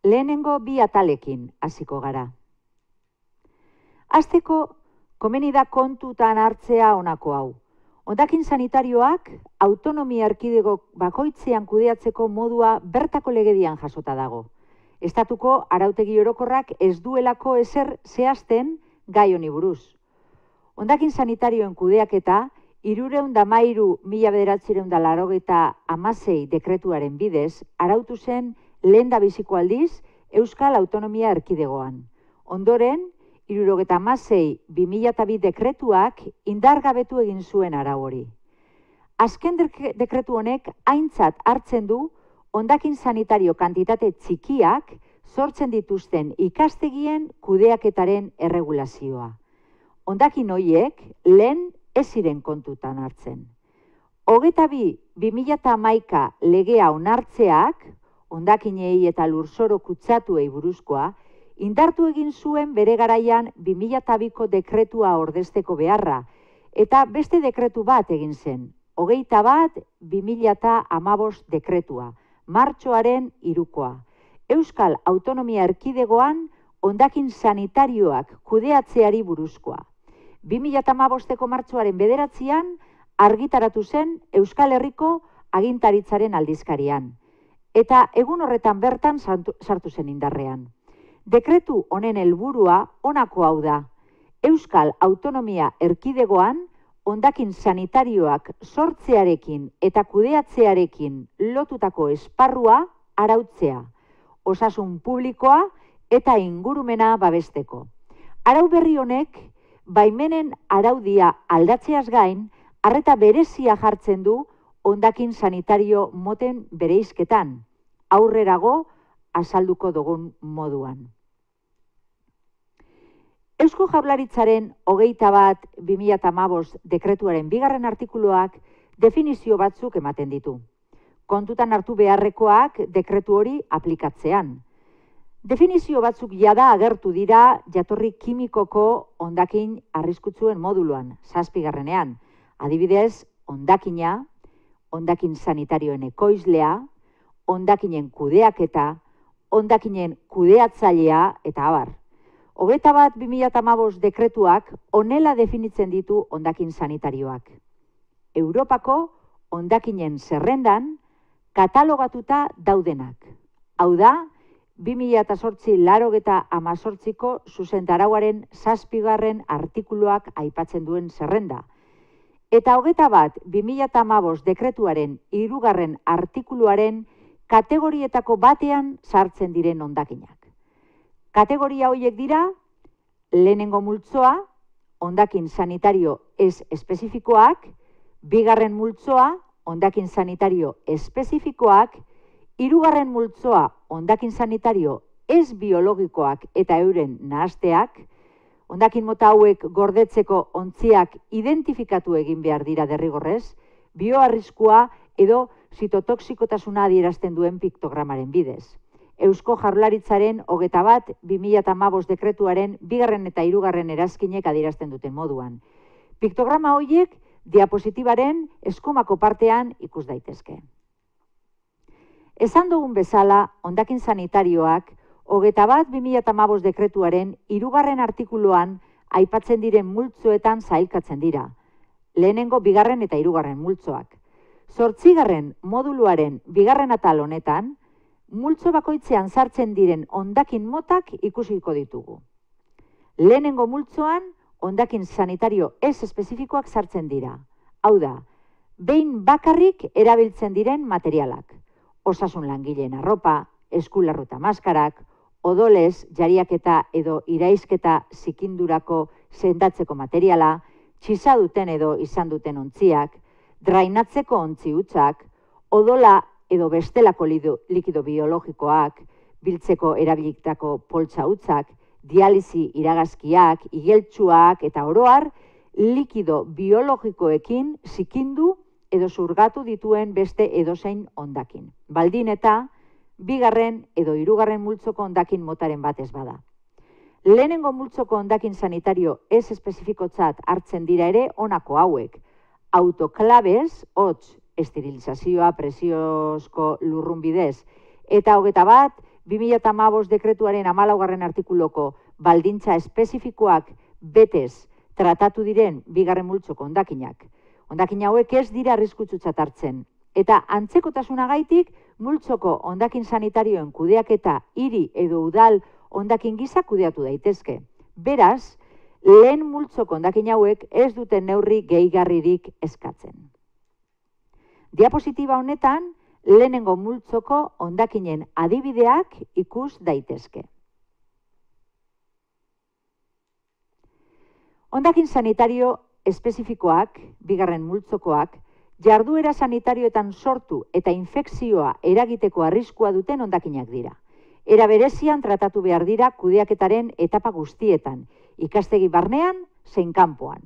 Lehenengo bi atalekin hasiko gara. Hasteko, komeni da kontutan hartzea honako hau. Hondakin sanitarioak autonomia erkidego bakoitzean kudeatzeko modua bertako legedian jasota dago. Estatuko arautegi orokorrak ez duelako ezer zehazten gai honi buruz. Hondakin sanitarioen kudeaketa 313/1986 dekretuaren bidez arautu zen lehendabiziko aldiz Euskal Autonomia Erkidegoan. Ondoren, 76/2002 dekretuak indargabetu egin zuen arau hori. Azken dekretu honek aintzat hartzen du hondakin sanitario kantitate txikiak sortzen dituzten ikastegien kudeaketaren erregulazioa. Hondakin horiek lehen ez ziren kontutan hartzen. 22/2011 legea onartzeak, hondakinei eta lurzoro kutsatuei buruzkoa, indartu egin zuen bere garaian 2002ko dekretua ordezteko beharra, eta beste dekretu bat egin zen, 21/2015 dekretua, martxoaren 3koa. Euskal Autonomia Erkidegoan hondakin sanitarioak kudeatzeari buruzkoa. 2015ko martxoaren 9an argitaratu zen Euskal Herriko agintaritzaren aldizkarian, eta egun horretan bertan sartu zen indarrean. Dekretu honen helburua honako hau da. Euskal Autonomia Erkidegoan hondakin sanitarioak sortzearekin eta kudeatzearekin lotutako esparrua arautzea, osasun publikoa eta ingurumena babesteko. Arau berri honek, baimenen araudia aldatzeaz gain, arreta berezia jartzen du hondakin sanitario moten bereizketan, aurrerago azalduko dugun moduan. Eusko Jaurlaritzaren 21/2015 dekretuaren 2. artikuluak definizio batzuk ematen ditu. Kontutan hartu beharrekoak dekretu hori aplikatzean. Definizio batzuk jada agertu dira jatorri kimikoko hondakin arriskutsuen moduluan, 7. Adibidez, hondakina, hondakin sanitarioen ekoizlea, hondakinen kudeaketa, hondakinen kudeatzailea eta abar. 21/2015 dekretuak honela definitzen ditu hondakin sanitarioak. Europako hondakinen zerrendan katalogatuta daudenak. Hau da, 2008-88ko zuzentarauaren 7. artikuluak aipatzen duen zerrenda. Eta 21/2015 dekretuaren 3. artikuluaren kategorietako batean sartzen diren hondakinak. Kategoria horiek dira, lehenengo multzoa, hondakin sanitario ez espezifikoak, 2. multzoa, hondakin sanitario espezifikoak, 3. multzoa, hondakin sanitario ez biologikoak eta euren nahasteak, hondakin mota hauek gordetzeko ontziak identifikatu egin behar dira derrigorrez, bioarriskua edo zitotoxikotasuna adierazten duen piktogramaren bidez. Eusko Jaurlaritzaren 21/2015 dekretuaren 2. eta 3. erazkinek adierazten duten moduan. Piktograma horiek diapositibaren eskumako partean ikus daitezke. Esan dugun bezala, hondakin sanitarioak 21/2015 dekretuaren 3. artikuluan aipatzen diren multzoetan sailkatzen dira. Lehenengo 2. eta 3. multzoak. 8. moduluaren 2. atal honetan, multzo bakoitzean sartzen diren hondakin motak ikusiko ditugu. Lehenengo multzoan, hondakin sanitario ez espezifikoak sartzen dira. Hau da, behin bakarrik erabiltzen diren materialak. Osasun langileen arropa, eskularruta maskarak, odolez, jariaketa edo iraizketa zikindurako sendatzeko materiala, txisaduten edo izan duten ontziak, drainatzeko ontzi hutsak, odola edo bestelako likido biologikoak, biltzeko erabilitako poltsa hutsak, dialisi iragazkiak, igeltsuak eta oroar, likido biologikoekin zikindu edo zurgatu dituen beste edozein hondakin. Baldin eta 2. edo 3. multzoko hondakin motaren batez bada. Lehenengo multzoko hondakin sanitario ez espezifikotzat hartzen dira ere honako hauek. Autoklabez, hotz, esterilizazioa presiozko lurrun bidez, eta 2015 dekretuaren 14. artikuloko baldintza espezifikoak betez tratatu diren bigarren multzoko hondakinak. Hondakin hauek ez dira arriskutsutzat hartzen. Eta antzekotasunagaitik multzoko hondakin sanitarioen kudeaketa hiri edo udal hondakin gisa kudeatu daitezke. Beraz, lehen multzoko hondakin hauek ez duten neurri gehigarririk eskatzen. Diapositiba honetan, lehenengo multzoko hondakinen adibideak ikus daitezke. Hondakin sanitario espezifikoak, bigarren multzokoak, jarduera sanitarioetan sortu eta infekzioa eragiteko arriskua duten hondakinak dira. Era berezian tratatu behar dira kudeaketaren etapa guztietan, ikastegi barnean, zein kanpoan.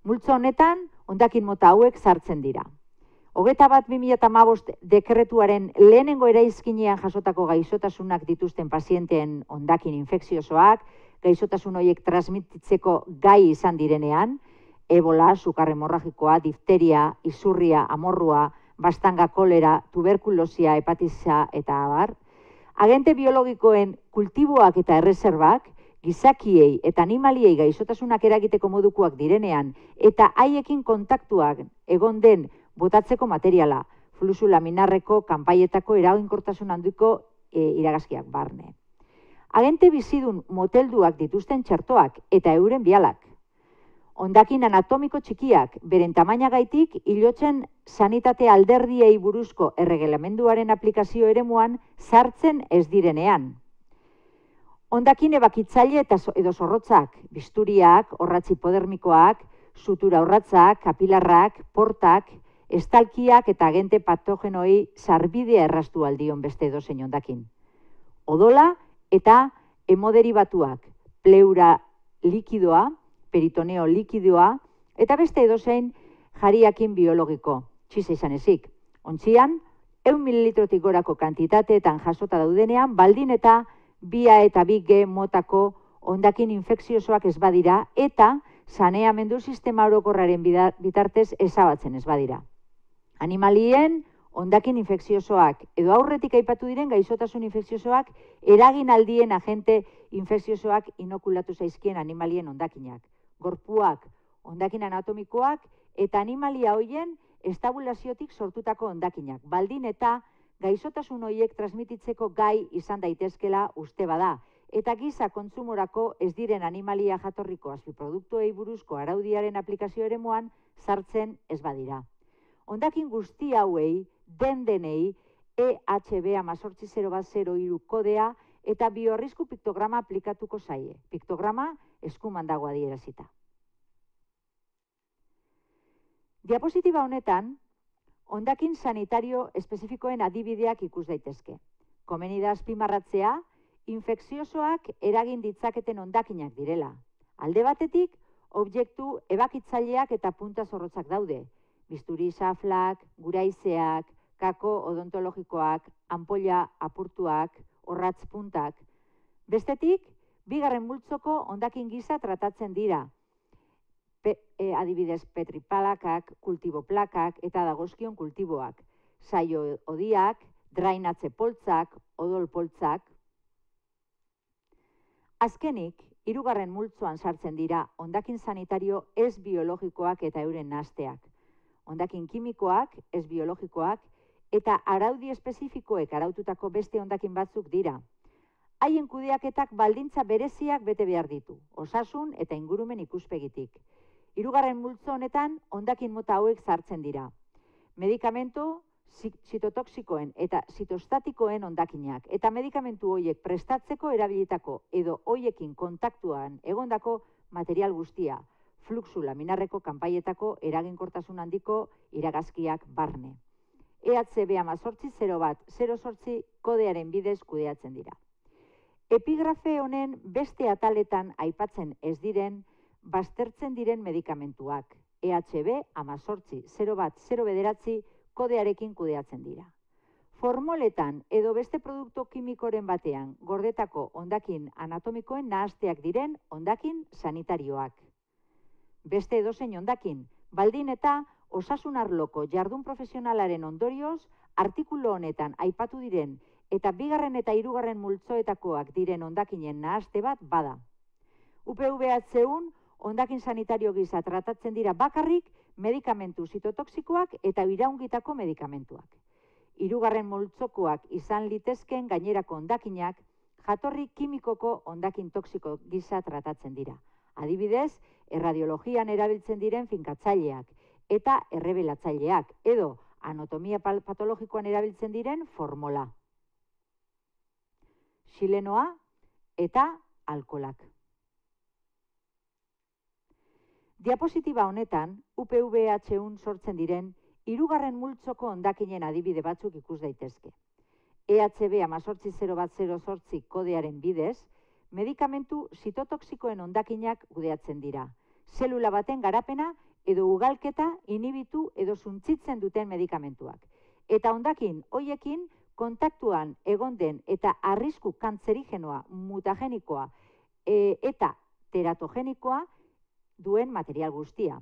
Multzo honetan, hondakin mota hauek sartzen dira. 21/2015 dekretuaren lehenengo eraizkinean jasotako gaixotasunak dituzten pazienteen hondakin infekziosoak, gaixotasun horiek transmititzeko gai izan direnean, ebola, sukar hemorragikoa, difteria, izurria, amorrua, bastanga kolera, tuberkulosia, hepatitisa eta abar, agente biologikoen kultiboak eta erreserbak, gizakiei eta animaliei gaixotasunak eragiteko modukoak direnean, eta haiekin kontaktuak egon den botatzeko materiala, fluxu laminarreko kanpaietako eraginkortasun handiko iragazkiak barne. Agente bizidun motelduak dituzten txertoak eta euren bialak. Hondakin anatomiko txikiak, beren tamainagaitik, hilotzen sanitate alderdiei buruzko erregelamenduaren aplikazio eremuan sartzen ez direnean. Hondakin ebakitzaile edo zorrotzak, bisturiak, orratz hipodermikoak, sutura orratzak, kapilarrak, portak, estalkiak eta agente patogenoi sarbidea erraztu aldion beste edozein hondakin. Odola eta hemoderibatuak, pleura likidoa, peritoneo likidoa, eta beste edozein jariakin biologiko, txiza izan ezik. Ontzian, 100 mililitrotik gorako kantitateetan jasota daudenean, baldin eta 2A eta 2G motako hondakin infekziosoak ez badira, eta saneamendu sistema orokorraren bitartez ezabatzen ez badira. Animalien hondakin infekziosoak edo aurretik aipatu diren gaixotasun infekziosoak eragin aldien agente infekziosoak inokulatu zaizkien animalien hondakinak. Gorpuak, hondakin anatomikoak eta animalia hoien estabulaziotik sortutako hondakinak. Baldin eta gaixotasun horiek transmititzeko gai izan daitezkela uste bada. Eta giza kontsumorako ez diren animalia jatorriko azpiproduktuei buruzko araudiaren aplikazio eremuan sartzen ez badira. Hondakin guzti hauei, denei, EHB 18003 kodea eta bioarrisku piktograma aplikatuko zaie. Piktograma eskuman dago adierazita. Diapositiba honetan, hondakin sanitario espezifikoen adibideak ikus daitezke. Komeni da azpimarratzea, infekziosoak eragin ditzaketen hondakinak direla. Alde batetik, objektu ebakitzaileak eta punta zorrotzak daude. Bisturi xaflak, guraizeak, kako odontologikoak, ampolla apurtuak, orratz puntak. Bestetik, bigarren multzoko hondakin gisa tratatzen dira. Adibidez petriplakak, kultiboplakak eta dagozkion kultiboak. Saio odiak, drainatze poltsak, odol poltsak. Azkenik, hirugarren multzoan sartzen dira hondakin sanitario ez biologikoak eta euren nahasteak. Hondakin kimikoak, ez biologikoak, eta araudi espezifikoek araututako beste hondakin batzuk dira. Haien kudeaketak baldintza bereziak bete behar ditu, osasun eta ingurumen ikuspegitik. Hirugarren multzo honetan hondakin mota hauek sartzen dira. Medikamentu, zitotoxikoen eta zitostatikoen hondakinak, eta medikamentu horiek prestatzeko erabilitako edo horiekin kontaktuan egondako material guztia, fluxu laminarreko kanpaietako eraginkortasun handiko iragazkiak barne. EHB 1800108 kodearen bidez kudeatzen dira. Epigrafe honen beste ataletan aipatzen ez diren, baztertzen diren medikamentuak. EHB 18010 kodearekin kudeatzen dira. Formoletan edo beste produktu kimikoren batean gordetako hondakin anatomikoen nahasteak diren hondakin sanitarioak. Beste edozein hondakin, baldin eta osasun arloko jardun profesionalaren ondorioz, artikulu honetan aipatu diren eta bigarren eta hirugarren multzoetakoak diren hondakinen nahaste bat bada. UPVHUn hondakin sanitario gisa tratatzen dira bakarrik medikamentu zitotoxikoak eta iraungitako medikamentuak. Hirugarren multzokoak izan litezken gainerako hondakinak jatorri kimikoko hondakin toxiko gisa tratatzen dira. Adibidez, erradiologian erabiltzen diren finkatzaileak eta errebelatzaileak edo anatomia patologikoan erabiltzen diren formola, xilenoa eta alkoholak. Diapositiba honetan, UPVHUn sortzen diren hirugarren multzoko hondakinen adibide batzuk ikus daitezke. EHB 18008 kodearen bidez, medikamentu zitotoxikoen hondakinak kudeatzen dira. Zelula baten garapena edo ugalketa inhibitu edo suntzitzen duten medikamentuak. Eta hondakin hoiekin kontaktuan egon den eta arrisku kantzerigenoa, mutagenikoa eta teratogenikoa duen material guztia.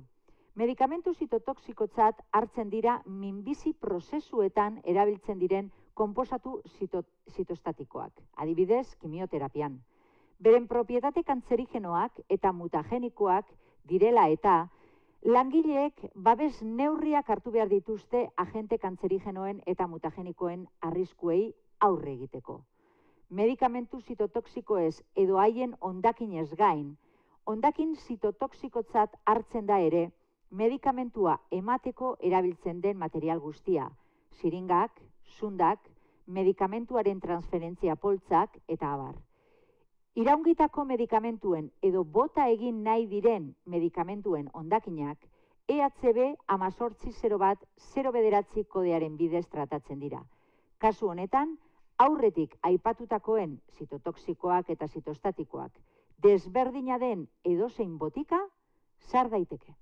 Medikamentu zitotoxikotzat hartzen dira minbizi prozesuetan erabiltzen diren konposatu zitostatikoak, adibidez kimioterapian. Beren propietate kantzerigenoak eta mutagenikoak direla eta langileek babes neurriak hartu behar dituzte agente kantzerigenoen eta mutagenikoen arriskuei aurre egiteko. Medikamentu zitotoxikoez edo haien hondakinez gain, hondakin zitotoxikotzat hartzen da ere medikamentua emateko erabiltzen den material guztia, siringak, sundak, medikamentuaren transferentzia poltsak eta abar. Iraungitako medikamentuen edo bota egin nahi diren medikamentuen hondakinak EHB 18010 kodearen bidez tratatzen dira. Kasu honetan, aurretik aipatutakoen zitotoxikoak eta zitostatikoak desberdina den edozein botika sar daiteke.